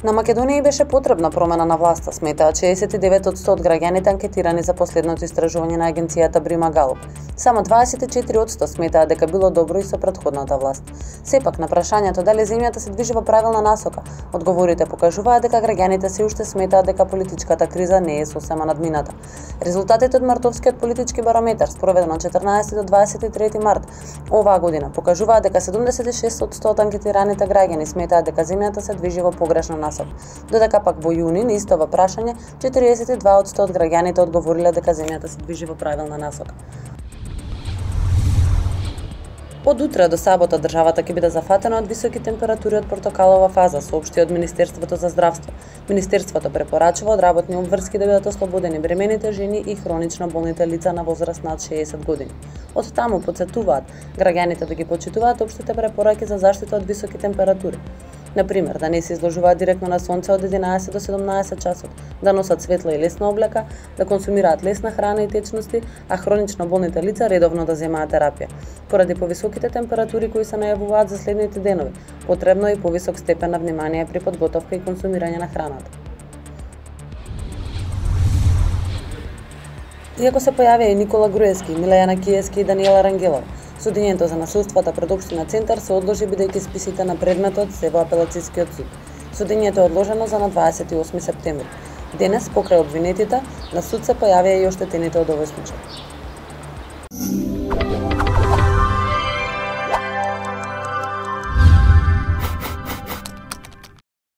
На Македонија беше потребна промена на власта, сметаат 69% од граѓаните анкетирани за последното истражување на агенцијата Брима Галуп. Само 24% сметаат дека било добро и со претходната власт. Сепак, на прашањето дали земјата се движи во правилна насока, одговорите покажуваат дека граѓаните се уште сметаат дека политичката криза не е сосема надмината. Резултатите од мартовскиот политички барометар, спроведен од 14 до 23 март оваа година, покажуваат дека 76% од анкетираните граѓани сметаат дека земјата се движи во погрешна насока, додека пак во јуни на истото прашање 42% од граѓаните одговориле дека земјата се движи во правилна насока. Од утре до сабота државата ќе биде зафатена од високи температури од портокалова фаза, соопшти од Министерството за здравство. Министерството препорачува од работни обврски да бидат ослободени бремените жени и хронично болните лица на возраст над 60 години. Од таму потсетуваат граѓаните да ги почитуваат општите препораки за заштита од високи температури. Например, да не се изложуваат директно на сонце од 11 до 17 часот, да носат светла и лесна облека, да консумираат лесна храна и течности, а хронично болните лица редовно да земаат терапија. Поради повисоките температури кои се најавуваат за следните денови, потребно е и повисок степен на внимание при подготовка и консумирање на храната. Иако се појавија и Никола Груевски, Милејана Киевски и Даниела Рангелова, судењето за насилствата пред општина Центар се одложи бидејќи списите на предметот се во апелацискиот суд. Судењето е одложено за на 28 септември. Денес, покрај обвинетите, на суд се појавија и оштетените од овој случај.